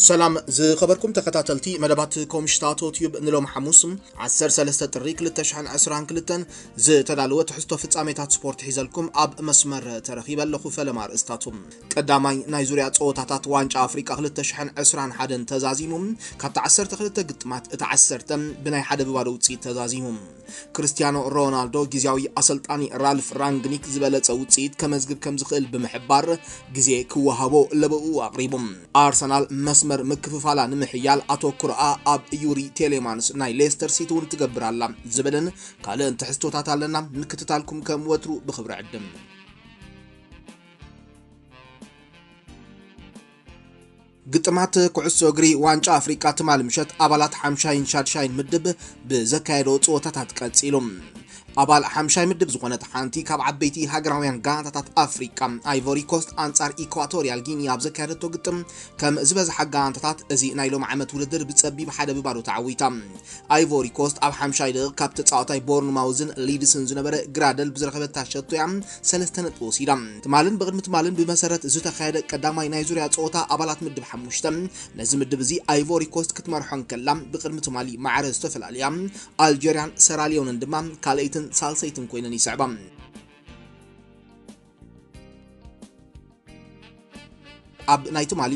ሰላም ዝኸበርኩም ተኸታተልቲ መደባት ኮምሽታቶ ቲዩብ፣ ንሎም ሓሙስ ዓሰርተ ሰለስተ ጥሪ ክልተ ሽሕን ዕስራን ክልተን ዝተዳለወ ትሕዝቶ ፍጻሜታት ስፖርት ሒዘልኩም ኣብ መስመር ተረኺበ ኣለኹ። ፈለማ ኣርእስታቱ። ቀዳማይ ናይ ዙርያ ጸወታታት ዋንጫ ኣፍሪቃ ክልተ ሽሕን ዕስራን ሓደን ተዛዚሙ። ካብቲ ዓሰርተ ክልተ ግጥማት እቲ ዓሰርተ ብናይ ሓደ ብባዶ ውጽኢት ተዛዚሙ። ክርስቲያኖ ሮናልዶ ግዝያዊ ኣሰልጣኒ ራልፍ ራንግኒክ ዝበለጸ ውጽኢት ከመዝግብ ከም ዝኽእል ብምሕባር፣ ግዜ ክወሃቦ ለበኡ ኣቕሪቡ። ኣርሰናል መስመር ምክፍፋላ ንምሕያል ኣተኩሮኣ ኣብ ዩሪ ቴሌማንስ ናይ ሌስተር ሲቲ እውን ትገብር ኣላ ዝብልን ካልእን ትሕዝቶታት ኣለና። ምክትታልኩም ከም ወትሩ ብኽብሪ ዕድም። ግጥማት ኩዕሶ እግሪ ዋንጫ ኣፍሪቃ ትማሊ ምሸት ኣባላት ሓምሻይን ሻድሻይን ምድብ ብዘካየዶ ጸወታታት ቀጺሉ። ኣባል ሓምሻይ ምድብ ዝኾነት ሓንቲ ካብ ዓበይቲ ሃገራውያን ጋንታታት ኣፍሪቃ፣ ኣይቮሪ ኮስት ኣንጻር ኢኳቶሪያል ጊኒ ኣብ ዘካየደቶ ግጥም፣ ከም ዝበዝሓ ጋንታታት እዚ ናይ ሎም ዓመት ውድድር ብጸቢብ ሓደ ብባዶ ተዓዊታ። ኣይቮሪ ኮስት ኣብ ሓምሻይ ደቂቕ ካብ ተጻዋታይ ቦርንማውዝን ሊድስን ዝነበረ ግራደል ብዝረኸበታ ሸቶ እያ ሰለስተ ነጥቢ ወሲዳ። ትማልን ብቕድሚ ትማልን ብመሰረት ዝተኻየደ ቀዳማይ ናይ ዙርያ ጸወታ ኣባላት ምድብ ሓሙሽተ፣ ነዚ ምድብ እዚ ኣይቮሪ ኮስት ክትመርሖ እንከላ፣ ብቕድሚ ትማሊ ማዕረ ዝተፈላለያ ኣልጀርያን ሰራሊዮንን ድማ ካልኣይትን ሳልሰይትን ኮይነን ይስዕባ። ኣብ ናይ ትማሊ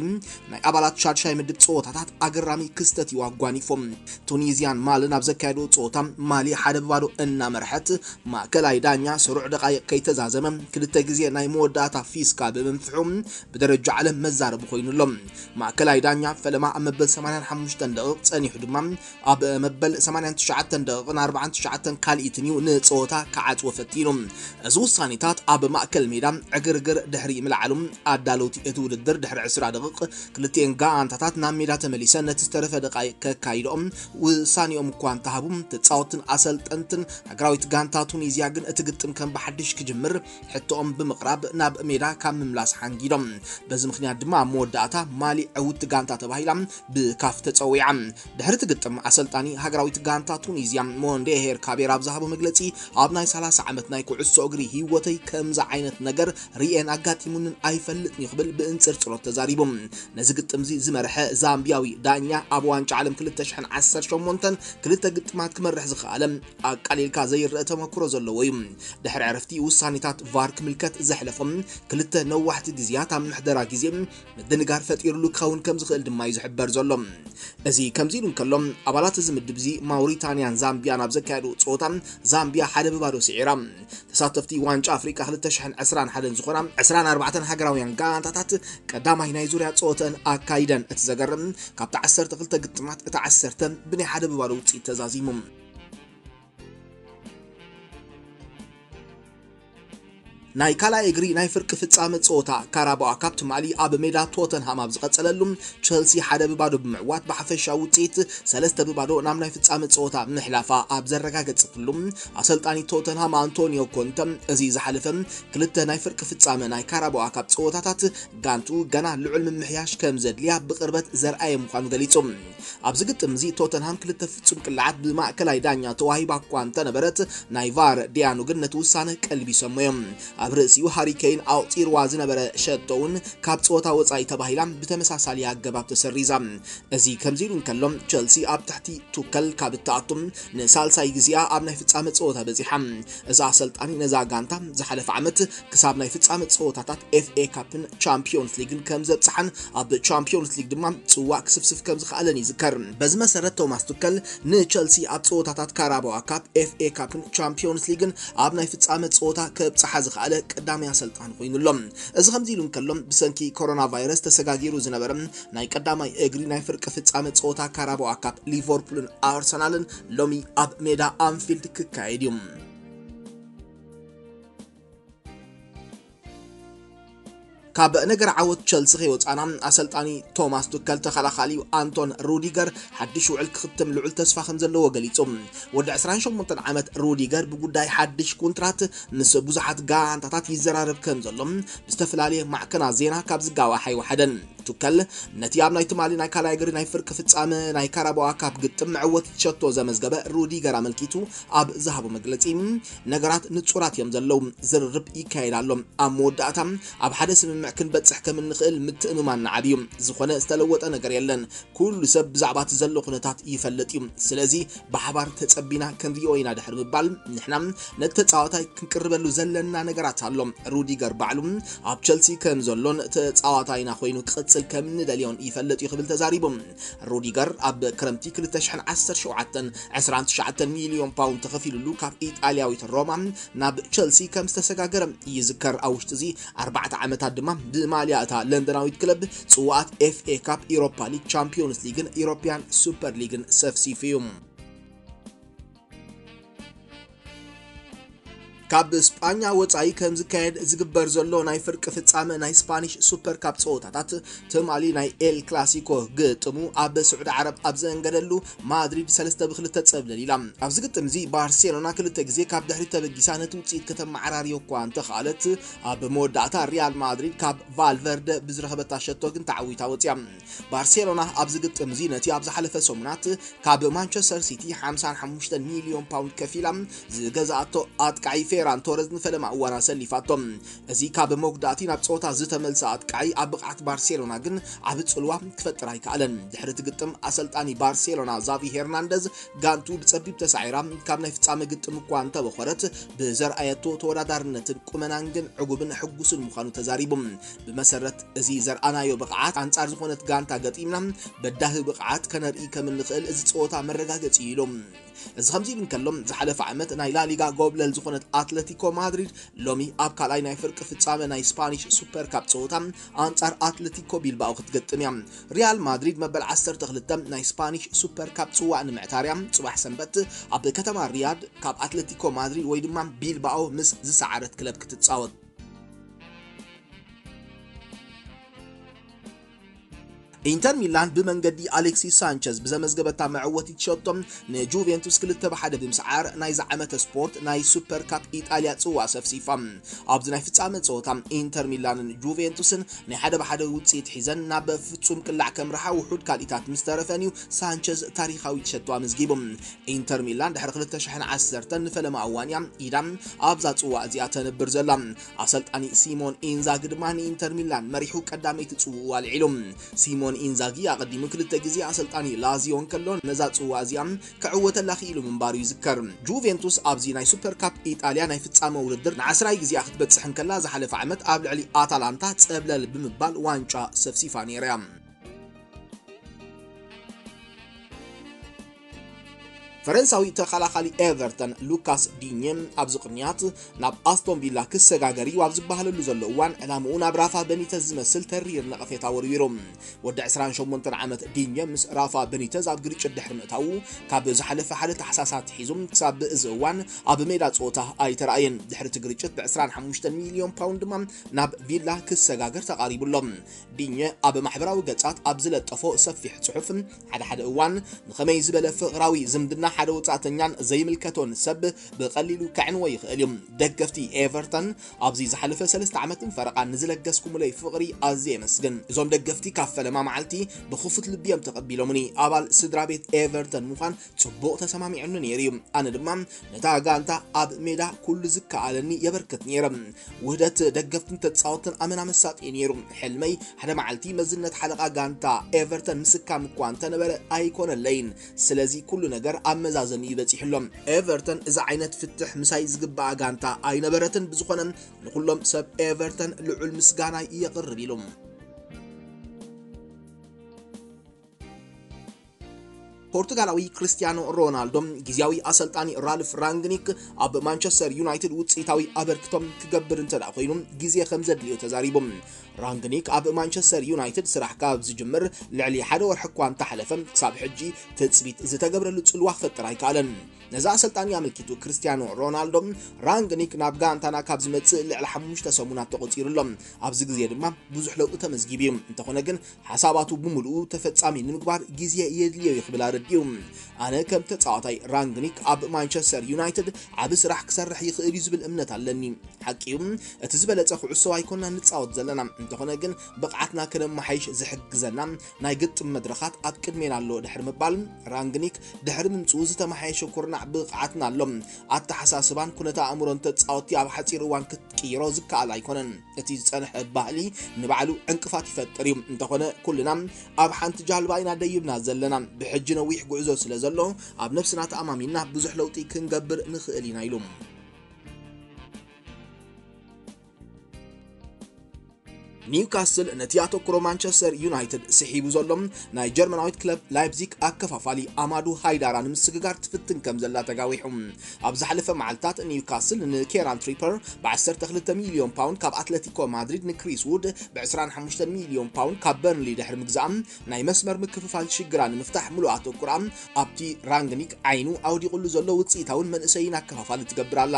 ናይ ኣባላት ሻድሻይ ምድብ ጸወታታት ኣገራሚ ክስተት እዩ ኣጓኒፎም። ቱኒዝያን ማልን ኣብ ዘካየዶ ጸወታ፣ ማሊ ሓደ ብባዶ እናመርሐት፣ ማእከላይ ዳኛ ስሩዕ ደቃይቕ ከይተዛዘመ ክልተ ግዜ ናይ መወዳእታ ፊስካ ብምንፍሑ ብደረጃ ዓለም መዛረቢ ኮይኑ ኣሎ። ማእከላይ ዳኛ ፈለማ ኣብ መበል ሰማንያን ሓሙሽተን ደቂቕ ጸኒሑ ድማ ኣብ መበል ሰማንያን ትሽዓተን ደቂቕን ኣርባዓን ትሽዓተን ካልኢትን እዩ ንጸወታ ክዓጽዎ ፈቲኑ። እዚ ውሳኔታት ኣብ ማእከል ሜዳ ዕግርግር ድሕሪ ምልዓሉ፣ ኣዳለውቲ እቲ ውድድር ድሕሪ ዕስራ ደቂቕ ክልቲኤን ጋንታታት ናብ ሜዳ ተመሊሰን ነቲ ዝተረፈ ደቃይቕ ከካይድኦም ውሳኔኦም እኳ እንተሃቡ፣ ተጻወትን ኣሰልጠንትን ሃገራዊት ጋንታ ቱኒዝያ ግን እቲ ግጥም ከም ብሓድሽ ክጅምር ሕቶኦም ብምቕራብ ናብ ሜዳ ካብ ምምላስ ሓንጊዶም። በዚ ምኽንያት ድማ ኣብ መወዳእታ ማሊ ዕውቲ ጋንታ ተባሂላ ብካፍ ተጸዊዓ። ድሕሪ እቲ ግጥም ኣሰልጣኒ ሃገራዊት ጋንታ ቱኒዝያ ሞንዴ ሄር ካቤር ኣብ ዝሃቦ መግለጺ፣ ኣብ ናይ ሰላሳ ዓመት ናይ ኩዕሶ እግሪ ህይወተይ ከምዚ ዓይነት ነገር ርእየን ኣጋጢሙንን ኣይፈልጥን እዩ ክብል ብእንጽርጽሮት ተዛሪቡ። ነዚ ግጥም እዚ ዝመርሐ ዛምቢያዊ ዳኛ ኣብ ዋንጫ ዓለም ክልተ ሽሕን ዓሰርተ ሸሞንተን ክልተ ግጥማት ክመርሕ ዝኸኣለ ኣቃሊልካ ዘይረአ ተመክሮ ዘለዎ እዩ። ድሕሪ ዕረፍቲ ውሳኔታት ቫር ክምልከት ዘሕለፎም ክልተ ነዋሕቲ ግዜያት ኣብ ምሕደራ ግዜ ምድንጋር ፈጢሩሉ ክኸውን ከም ዝኽእል ድማ እዩ ዝሕበር ዘሎ። እዚ ከምዚ ኢሉ እንከሎ፣ ኣባላት እዚ ምድብ እዚ ማውሪታንያን ዛምቢያን ኣብ ዘካየዱ ጸወታ ዛምቢያ ሓደ ብባዶ ስዒራ። ተሳተፍቲ ዋንጫ ኣፍሪቃ ክልተ ሽሕን ዕስራን ሓደን ዝኾና ዕስራን ኣርባዕተን ሃገራውያን ጋንታታት ቀዳማይ ናይ ዙርያ ጸወተን ኣካይደን። እቲ ዘገርም፣ ካብቲ ዓሰርተ ክልተ ግጥማት እቲ ዓሰርተ ብናይ ሓደ ብባዶ ውጽኢት ተዛዚሙ። ናይ ካልኣይ እግሪ ናይ ፍርቂ ፍጻመ ጸወታ ካራባኦ ካፕ ትማሊ ኣብ ሜዳ ቶተንሃም ኣብ ዝቐጸለሉ፣ ቸልሲ ሓደ ብባዶ ብምዕዋት ብሓፈሻዊ ውጽኢት ሰለስተ ብባዶ ናብ ናይ ፍጻመ ጸወታ ምሕላፋ ኣብ ዘረጋገጸትሉ፣ ኣሰልጣኒ ቶተንሃም ኣንቶኒዮ ኮንተ፣ እዚ ዝሓለፈ ክልተ ናይ ፍርቂ ፍጻመ ናይ ካራባኦ ካፕ ጸወታታት ጋንቱ ገና ልዑል ምምሕያሽ ከም ዘድልያ ብቕርበት ዘርኣየ ምዃኑ ገሊጹ። ኣብዚ ግጥም እዚ ቶተንሃም ክልተ ፍጹም ቅልዓት ብማእከላይ ዳኛ ተዋሂባ እኳ እንተነበረት፣ ናይ ቫር ዲያኑ ግን ነቲ ውሳነ ቀልቢሶሞ እዮም። ኣብ ርእሲኡ ሃሪ ኬይን ኣቑጺርዋ ዝነበረ ሸቶ እውን ካብ ጸወታ ወጻኢ ተባሂላ ብተመሳሳሊ ኣገባብ ተሰሪዛ። እዚ ከምዚ ኢሉ እንከሎ፣ ቸልሲ ኣብ ትሕቲ ቱከል ካብ እትኣቱ ንሳልሳይ ግዜኣ ኣብ ናይ ፍጻመ ጸወታ በጺሓ። እዛ ኣሰልጣኒ ነዛ ጋንታ ዝሓለፈ ዓመት ክሳብ ናይ ፍጻመ ጸወታታት ኤፍ ኤ ካፕን ቻምፒዮንስ ሊግን ከም ዘብጽሓን ኣብ ቻምፒዮንስ ሊግ ድማ ጽዋእ ክስፍስፍ ከም ዝኸኣለን ይዝከር። በዚ መሰረት ቶማስ ቱከል ንቸልሲ ኣብ ጸወታታት ካራባዋ ካፕ፣ ኤፍ ኤ ካፕን ቻምፒዮንስ ሊግን ኣብ ናይ ፍጻመ ጸወታ ከብጽሓ ዝኸኣለ ቀዳማይ ኣሰልጣኒ ኮይኑ ኣሎ። እዚ ከምዚ ኢሉ እንከሎ፣ ብሰንኪ ኮሮና ቫይረስ ተሰጋጊሩ ዝነበረ ናይ ቀዳማይ እግሪ ናይ ፍርቂ ፍጻመ ጸወታ ካራባዋ ካፕ ሊቨርፑልን ኣርሰናልን ሎሚ ኣብ ሜዳ ኣንፊልድ ክካየድ እዩ። ካብ ነገር ዓወት ቸልሲ ከይወጻና፣ ኣሰልጣኒ ቶማስ ቱከል ተኸላኻሊኡ ኣንቶን ሩዲገር ሓድሽ ውዕል ክኽትም ልዑል ተስፋ ከም ዘለዎ ገሊጹ። ወዲ ዕስራን ሸሞንተን ዓመት ሩዲገር ብጉዳይ ሓድሽ ኮንትራት ምስ ብዙሓት ጋንታታት ይዘራረብ ከም ዘሎ ብዝተፈላለየ ማዕከናት ዜና ካብ ዝጋዋሕ ኣይወሓደን። ቱከል ነቲ ኣብ ናይ ትማሊ ናይ ካልኣይ እግሪ ናይ ፍርቂ ፍጻመ ናይ ካራባዋ ካፕ ግጥም መዕወቲ ሸቶ ዘመዝገበ ሩዲገር ኣመልኪቱ ኣብ ዝሃቦ መግለጺ፣ ነገራት ንጹራት እዮም ዘለዉ፣ ዝርርብ ይካየድ ኣሎ። ኣብ መወዳእታ ኣብ ሓደ ስምምዕ ክንበጽሕ ከም እንኽእል ምትእምማን ንዓቢ እዩ። ዝኾነ ዝተለወጠ ነገር የለን። ኩሉ ሰብ ብዛዕባ እቲ ዘሎ ኩነታት ይፈልጥ እዩ። ስለዚ ብሓባር ተጸቢና ክንሪኦ ኢና ድሕሪ ምባል፣ ንሕና ነቲ ተጻዋታይ ክንቅርበሉ ዘለና ነገራት ኣሎ። ሩዲገር ባዕሉ ኣብ ቸልሲ ከም ዘሎን ተጻዋታይና ኮይኑ ክቕጽል ከም እንደልዮን ይፈልጥ እዩ ክብል ተዛሪቡ። ሩዲገር ኣብ ክረምቲ ክልተ ሽሕን ዓሰርተ ሸውዓተን ዕስራን ትሽዓተን ሚልዮን ፓውንድ ተኸፊሉሉ ካብ ኢጣልያዊት ሮማ ናብ ቸልሲ ከም ዝተሰጋገረ ይዝከር። ኣብ ውሽጢ እዚ ኣርባዕተ ዓመታት ድማ ብማልያ እታ ለንደናዊት ክለብ ጽዋኣት ኤፍ ኤ ካፕ፣ ኢሮፓ ሊግ፣ ቻምፒዮንስ ሊግን ኢሮፒያን ሱፐር ሊግን ሰፍሲፉ እዩ። ካብ ስጳኛ ወጻኢ ከም ዝካየድ ዝግበር ዘሎ ናይ ፍርቂ ፍጻመ ናይ ስፓኒሽ ሱፐር ካፕ ጸወታታት፣ ትማሊ ናይ ኤል ክላሲኮ ግጥሙ ኣብ ስዑዲ ዓረብ ኣብ ዘእንገደሉ፣ ማድሪድ ሰለስተ ብክልተ ጸብለል ኢላ። ኣብዚ ግጥም እዚ ባርሴሎና ክልተ ግዜ ካብ ድሕሪት ተበጊሳ ነቲ ውጽኢት ከተመዓራርዮ እኳ እንተኽኣለት፣ ኣብ መወዳእታ ሪያል ማድሪድ ካብ ቫልቨርደ ብዝረኸበታ ሸቶ ግን ተዓዊታ ወጽያ። ባርሴሎና ኣብዚ ግጥም እዚ ነቲ ኣብ ዝሓለፈ ሰሙናት ካብ ማንቸስተር ሲቲ ሓምሳን ሓሙሽተን ሚልዮን ፓውንድ ከፊላ ዝገዛኣቶ ኣጥቃዒ ፌራን ቶረዝ ንፈለማ እዋን ኣሰሊፋቶ። እዚ ካብ መጉዳእቲ ናብ ጸወታ ዝተመልሰ ኣጥቃዒ ኣብ ብቕዓት ባርሴሎና ግን ዓቢ ጽልዋ ክፈጥር ኣይከኣለን። ድሕሪ እቲ ግጥም ኣሰልጣኒ ባርሴሎና ዛቪ ሄርናንደዝ ጋንቱ ብጸቢብ ተሳዒራ ካብ ናይ ፍጻመ ግጥም እኳ እንተበኾረት ብዘርኣየቶ ተወዳዳርነትን ቁመናን ግን ዕጉብን ሕጉስን ምዃኑ ተዛሪቡ። ብመሰረት እዚ ዘርኣናዮ ብቕዓት ኣንጻር ዝኾነት ጋንታ ገጢምና በዳሂ ብቕዓት ከነርኢ ከም እንኽእል እዚ ጸወታ መረጋገጺ እዩ ኢሉ። እዚ ከምዚ ኢሉ እንከሎ፣ ዝሓለፈ ዓመት ናይ ላሊጋ ጎብለል ዝኾነት ኣትለቲኮ ማድሪድ ሎሚ ኣብ ካልኣይ ናይ ፍርቂ ፍጻመ ናይ ስፓኒሽ ሱፐር ካፕ ጸወታ ኣንጻር ኣትለቲኮ ቢልባኦ ክትገጥም እያ። ሪያል ማድሪድ መበል ዓሰርተ ክልተ ናይ ስፓኒሽ ሱፐር ካፕ ጽዋእ ንምዕታር እያ ጽባሕ ሰንበት ኣብ ከተማ ሪያድ ካብ ኣትለቲኮ ማድሪድ ወይ ድማ ቢልባኦ ምስ ዝሰዓረት ክለብ ክትጻወት። ኢንተር ሚላን ብመንገዲ ኣሌክሲስ ሳንቸዝ ብዘመዝገበታ መዕወቲት ሸቶ ንጁቬንቱስ ክልተ ብሓደ ብምስዓር ናይዚ ዓመተ ስፖርት ናይ ሱፐር ካፕ ኢጣልያ ጽዋእ ሰፍሲፋ። ኣብዚ ናይ ፍጻመ ጸወታ ኢንተር ሚላንን ጁቬንቱስን ናይ ሓደ ብሓደ ውጽኢት ሒዘን ናብ ፍጹም ቅላዕ ከምርሓ ውሑድ ካልኢታት ምስ ተረፈን እዩ ሳንቸዝ ታሪኻዊት ሸቶ ኣመዝጊቡ። ኢንተር ሚላን ድሕሪ ክልተ ሽሕን ዓሰርተን ንፈለማ እዋን እያ ኢዳ ኣብዛ ጽዋእ እዚኣ ተንብር ዘላ። ኣሰልጣኒ ሲሞን ኢንዛጊ ድማ ንኢንተር ሚላን መሪሑ ቀዳመይቲ ጽውኡ ኣልዒሉ። ሲሞን ኢንዛጊ ኣቐዲሙ ክልተ ግዜ ኣሰልጣኒ ላዚዮ እንከሎ ነዛ ጽዋእ እዚኣ ክዕወተላ ክኢሉ ምንባሩ ይዝከር። ጁቬንቱስ ኣብዚ ናይ ሱፐር ካፕ ኢጣልያ ናይ ፍጻመ ውድድር ንዓስራይ ግዜኣ ክትበጽሕ እንከላ ዝሓለፈ ዓመት ኣብ ልዕሊ ኣታላንታ ጸብለል ብምባል ዋንጫ ሰፍሲፋ ነይራ እያ። ፈረንሳዊ ተኸላኻሊ ኤቨርተን ሉካስ ዲኘ ኣብዚ ቅንያት ናብ ኣስቶን ቪላ ክሰጋገር እዩ ኣብ ዝበሃለሉ ዘሎ እዋን ዕላምኡ ናብ ራፋ በኒተዝ ዝመስል ተሪር ነቐፌታ ወርዊሩ። ወዲ ዕስራን ሸሞንተን ዓመት ዲኘ ምስ ራፋ በኒተዝ ኣብ ግርጭት ድሕሪ ምእታዉ ካብ ዝሓለፈ ሓደ ታሕሳስ ኣትሒዙ ክሳብ እዚ እዋን ኣብ ሜዳ ጸወታ ኣይተራእየን። ድሕሪ እቲ ግርጭት ብ ዕስራን ሓሙሽተን ሚልዮን ፓውንድ ድማ ናብ ቪላ ክሰጋገር ተቓሪቡ ኣሎ። ዲኘ ኣብ ማሕበራዊ ገጻት ኣብ ዝለጠፎ ሰፊሕ ጽሑፍ፣ ሓደ ሓደ እዋን ንኸመይ ዝበለ ፍቕራዊ ዝምድና ሓደ ወጻእተኛን ዘይምልከቶን ሰብ ብቐሊሉ ከዕንዎ ይኽእል እዩ። ደገፍቲ ኤቨርተን ኣብዚ ዝሓለፈ ሰለስተ ዓመትን ፈረቓን ንዝለገስኩምለይ ፍቕሪ ኣዝየ የመስግን። እዞም ደገፍቲ ካብ ፈለማ መዓልቲ ብኽፉት ልቢ እዮም ተቐቢሎምኒ። ኣባል ስድራ ቤት ኤቨርተን ምዃን ጽቡቕ ተሰማሚዑኒ ነይሩ እዩ። ኣነ ድማ ነታ ጋንታ ኣብ ሜዳ ኩሉ ዝከኣለኒ የበርክት ነይረ። ውህደት ደገፍትን ተጻወትን ኣመና መሳጢ እዩ ነይሩ። ሕልመይ ሓደ መዓልቲ መዝነት ሓለቓ ጋንታ ኤቨርተን ምስካም እኳ እንተነበረ ኣይኮነለይን። ስለዚ ኩሉ ነገር ኣብ መዛዘሚኡ በጺሑ ኣሎ። ኤቨርተን እዚ ዓይነት ፍትሕ ምሳይ ዝግባኣ ጋንታ ኣይነበረትን። ብዝኾነ ንኹሎም ሰብ ኤቨርተን ልዑል ምስጋናይ የቕርብ ኢሉ። ፖርቱጋላዊ ክርስቲያኖ ሮናልዶ ግዝያዊ ኣሰልጣኒ ራልፍ ራንግኒክ ኣብ ማንቸስተር ዩናይትድ ውጽኢታዊ ኣበርክቶም ክገብር እንተ ደኣ ኮይኑ ግዜ ከም ዘድልዮ ተዛሪቡ። ራንግኒክ ኣብ ማንቸስተር ዩናይትድ ስራሕ ካብ ዝጅምር ልዕሊ ሓደ ወርሒ እኳ እንተሓለፈ፣ ክሳብ ሕጂ ትጽቢት ዝተገብረሉ ጽልዋ ክፈጥር ኣይከኣለን። ነዚ ኣሰልጣኒ ኣመልኪቱ ክርስቲያኖ ሮናልዶ፣ ራንግኒክ ናብ ጋንታና ካብ ዝመጽእ ልዕሊ ሓሙሽተ ሰሙናት ተቖጺሩ ኣሎ። ኣብዚ ግዜ ድማ ብዙሕ ለውጢ ተመዝጊቡ እዩ። እንተኾነ ግን ሓሳባቱ ብምሉኡ ተፈጻሚ ንምግባር ግዜ የድልዮ እዩ ክብል ኣረዲኡ። እዩ። ኣነ ከም ተጻዋታይ ራንግኒክ ኣብ ማንቸስተር ዩናይትድ ዓቢ ስራሕ ክሰርሕ ይኽእል እዩ ዝብል እምነት ኣለኒ። ሓቂ እዩ፣ እቲ ዝበለጸ ኩዕሶ ኣይኮና ንጻወት ዘለና፣ እንተኾነ ግን ብቕዓትና ከነመሓይሽ ዝሕግዘና ናይ ግጥም መድረኻት ኣብ ቅድሜና ኣሎ ድሕሪ ምባል፣ ራንግኒክ ድሕሪ ምምጽኡ ዝተመሓየሸ ኩርናዕ ብቕዓትና ኣሎ። ኣተሓሳስባን ኩነተ ኣእምሮን ተጻወትቲ ኣብ ሓጺር እዋን ክትቅይሮ ዝከኣል ኣይኮነን። እቲ ዝጸንሐ ባህሊ ንባዕሉ ዕንቅፋት ይፈጥር እዩ። እንተኾነ ኩልና ኣብ ሓንቲ ጃልባ ኢና ደይብና ዘለና። ብሕጂ ነዊሕ ጉዕዞ ስለ ዘሎ ኣብ ነብስና ተኣማሚንና ብዙሕ ለውጢ ክንገብር ንኽእል ኢና ኢሉ። ኒውካስል ነቲ ኣተኩሮ ማንቸስተር ዩናይትድ ስሒቡ ዘሎ ናይ ጀርመናዊት ክለብ ላይፕዚግ ኣከፋፋሊ ኣማዱ ሃይዳራ ንምስግጋር ትፍትን ከም ዘላ ተጋዊሑ። ኣብ ዝሓለፈ መዓልታት ኒውካስል ንኬራን ትሪፐር ብ12 ሚልዮን ፓውንድ ካብ ኣትለቲኮ ማድሪድ፣ ንክሪስ ውድ ብ25 ሚልዮን ፓውንድ ካብ በርንሊ ድሕሪ ምግዛእ፣ ናይ መስመር ምክፍፋል ሽግራ ንምፍታሕ ምሉእ ኣተኩራ ኣብቲ ራንግኒክ ዓይኑ ኣውዲቑሉ ዘሎ ውፅኢታውን መንእሰይን ኣከፋፋሊ ትገብር ኣላ።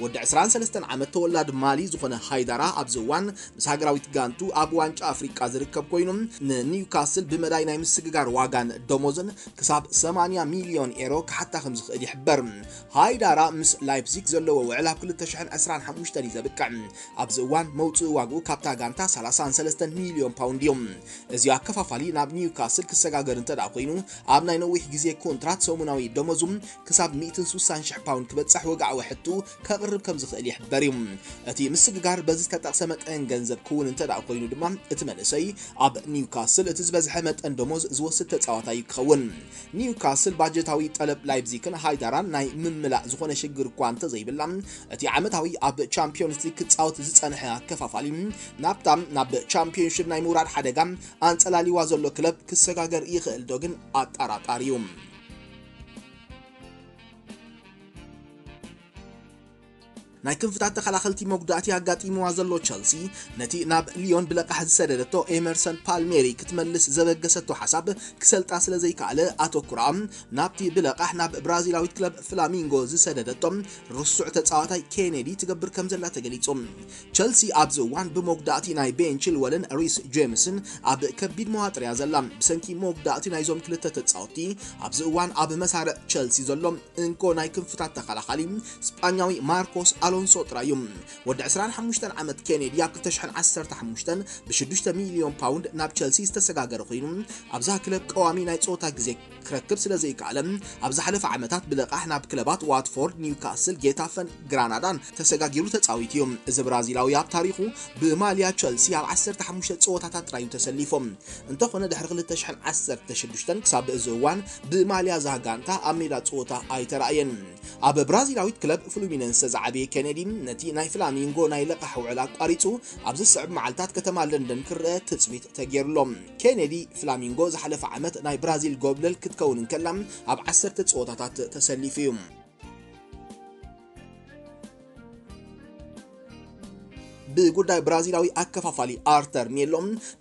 ወዲ 23 ዓመት ተወላዲ ማሊ ዝኾነ ሃይዳራ ኣብዚ እዋን ምስ ሃገራዊት ጋንቱ ኣብ ዋንጫ ኣፍሪቃ ዝርከብ ኮይኑ፣ ንኒውካስል ብመዳይ ናይ ምስግጋር ዋጋን ደሞዝን ክሳብ 80 ሚልዮን ኤሮ ክሓታ ከም ዝኽእል ይሕበር። ሃይዳራ ምስ ላይፕዚግ ዘለዎ ውዕል ኣብ 2025 እዩ ዘብቅዕ። ኣብዚ እዋን መውፅኢ ዋግኡ ካብታ ጋንታ 33 ሚልዮን ፓውንድ እዩ። እዚ ኣከፋፋሊ ናብ ኒውካስል ክሰጋገር እንተ ደኣ ኮይኑ፣ ኣብ ናይ ነዊሕ ግዜ ኮንትራት ሰሙናዊ ደሞዙ ክሳብ 160,000 ፓውንድ ክበጽሕ ወግዓዊ ሕቱ ከቕርብ ከም ዝኽእል ይሕበር እዩ። እቲ ምስግጋር በዚ ዝተጠቕሰ መጠን ገንዘብ ክውን እንተ ደኣ ኮይኑ ድማ፣ እቲ መንእሰይ ኣብ ኒውካስል እቲ ዝበዝሐ መጠን ደሞዝ ዝወስድ ተጻዋታይ ክኸውን። ኒውካስል ባጀታዊ ጠለብ ላይፕዚግን ሃይዳራን ናይ ምምላእ ዝኾነ ሽግር እኳ እንተዘይብላ፣ እቲ ዓመታዊ ኣብ ቻምፒዮንስ ሊግ ክጻወት ዝጸንሐ ኣከፋፋሊ ናብታ ናብ ቻምፒዮንሺፕ ናይ ምውራድ ሓደጋ ኣንጸላሊዋ ዘሎ ክለብ ክሰጋገር ይኽእል ዶ ግን ኣጠራጣሪ እዩ። ናይ ክንፍታት ተኸላኸልቲ መጉዳእቲ ኣጋጢምዋ ዘሎ ቸልሲ፣ ነቲ ናብ ሊዮን ብለቃሕ ዝሰደደቶ ኤመርሰን ፓልሜሪ ክትመልስ ዘበገሰቶ ሓሳብ ክሰልጣ ስለ ዘይከኣለ፣ ኣተኩራ ናብቲ ብለቃሕ ናብ ብራዚላዊት ክለብ ፍላሚንጎ ዝሰደደቶ ርሱዕ ተጻዋታይ ኬኔዲ ትገብር ከም ዘላ ተገሊጹ። ቸልሲ ኣብዚ እዋን ብመጉዳእቲ ናይ ቤን ቺልወልን ሪስ ጄምስን ኣብ ከቢድ መዋጥር እያ ዘላ። ብሰንኪ መጉዳእቲ ናይዞም ክልተ ተጻወትቲ፣ ኣብዚ እዋን ኣብ መሳርዕ ቸልሲ ዘሎ እንኮ ናይ ክንፍታት ተኸላኻሊ ስጳኛዊ ማርኮስ ኣሎንሶ ጥራይ እዩ። ወዲ 25 ዓመት ኬኔዲ ኣብ 2015 ብ6 ሚልዮን ፓውንድ ናብ ቸልሲ ዝተሰጋገረ ኮይኑ፣ ኣብዛ ክለብ ቀዋሚ ናይ ጸወታ ግዜ ክረክብ ስለ ዘይከኣለ፣ ኣብ ዝሓለፈ ዓመታት ብለቓሕ ናብ ክለባት ዋትፎርድ፣ ኒውካስል፣ ጌታፈን ግራናዳን ተሰጋጊሩ ተጻዊቱ እዩ። እዚ ብራዚላዊ ኣብ ታሪኹ ብማልያ ቸልሲ ኣብ 15 ጸወታታት ጥራይ እዩ ተሰሊፉ። እንተኾነ ድሕሪ 2016 ክሳብ እዚ እዋን ብማልያ እዛ ጋንታ ኣብ ሜዳ ጸወታ ኣይተራእየን። ኣብ ብራዚላዊት ክለብ ፍሉሚነንሰ ዝዓበየ ኬኔዲ ነቲ ናይ ፍላሚንጎ ናይ ለቓሕ ውዕል ኣቋሪጹ ኣብ ዝስዕብ መዓልታት ከተማ ለንደን ክረአ ትጽቢት ተገይሩሎ። ኬኔዲ ፍላሚንጎ ዝሓለፈ ዓመት ናይ ብራዚል ጎብለል ክትከውን እንከላ ኣብ 10 ጸወታታት ተሰሊፉ እዩ። ብጉዳይ ብራዚላዊ ኣከፋፋሊ ኣርተር ሜሎ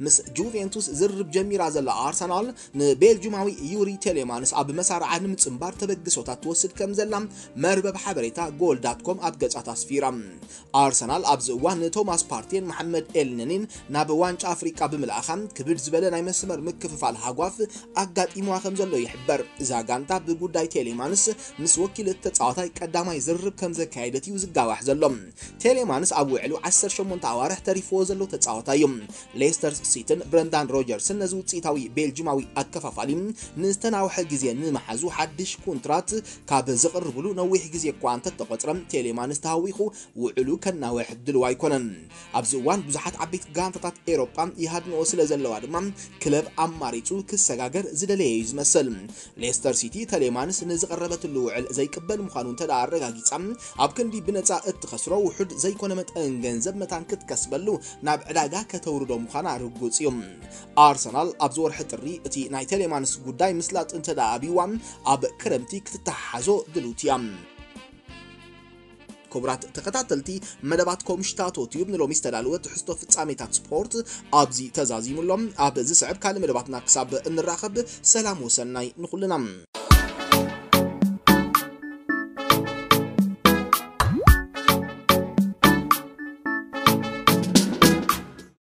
ምስ ጁቬንቱስ ዝርርብ ጀሚራ ዘላ ኣርሰናል፣ ንቤልጁማዊ ዩሪ ቴሌማንስ ኣብ መሳርዓ ንምጽንባር ተበግሶታት ትወስድ ከም ዘላ መርበብ ሓበሬታ ጎል ዳት ኮም ኣብ ገጻት ኣስፊራ። ኣርሰናል ኣብዚ እዋን ንቶማስ ፓርቴን መሐመድ ኤልነኒን ናብ ዋንጫ ኣፍሪቃ ብምልኣኻ፣ ክብድ ዝበለ ናይ መስመር ምክፍፋል ሃጓፍ ኣጋጢምዋ ከም ዘሎ ይሕበር። እዛ ጋንታ ብጉዳይ ቴሌማንስ ምስ ወኪል እቲ ተጻዋታይ ቀዳማይ ዝርርብ ከም ዘካየደት እዩ ዝጋዋሕ ዘሎ። ቴሌማንስ ኣብ ውዕሉ 18 ኣዋርሕ ተሪፍዎ ዘሎ ተጻዋታይ እዩ። ሌስተር ሲቲን ብረንዳን ሮጀርስን ነዚ ውጽኢታዊ ቤልጂማዊ ኣከፋፋሊ ንዝተናውሐ ግዜ ንምሓዙ ሓድሽ ኮንትራት ካብ ዝቕርብሉ ነዊሕ ግዜ እኳ እንተተቖጽረ፣ ቴሌማንስ ተሃዊኹ ውዕሉ ከናውሕ ድልው ኣይኮነን። ኣብዚ እዋን ብዙሓት ዓበይቲ ጋንታታት ኤሮጳ ይሃድንኦ ስለ ዘለዋ ድማ፣ ክለብ ኣማሪጹ ክሰጋገር ዝደለየ እዩ ዝመስል። ሌስተር ሲቲ ተሌማንስ ንዝቐረበትሉ ውዕል ዘይቅበል ምዃኑ እንተ ደኣ ኣረጋጊጻ፣ ኣብ ክንዲ ብነጻ እትኸስሮ ውሑድ ዘይኮነ መጠን ገንዘብ መታን ክትከስበሉ ናብ ዕዳጋ ከተውርዶ ምዃና ርጉጽ እዩ። ኣርሰናል ኣብዚ ወርሒ ጥሪ እቲ ናይ ቴሌማንስ ጉዳይ ምስላጥ እንተ ደኣ ኣብይዋ፣ ኣብ ክረምቲ ክትተሓሓዞ ድልውቲ እያ። ክቡራት ተኸታተልቲ መደባት ኮምሽታቶ ቲዩብ፣ ንሎሚ ዝተዳለወ ትሕዝቶ ፍጻሜታት ስፖርት ኣብዚ ተዛዚሙ ኣሎ። ኣብ ዝስዕብ ካልእ መደባትና ክሳብ እንራኸብ፣ ሰላም ወሰናይ ንኹልና።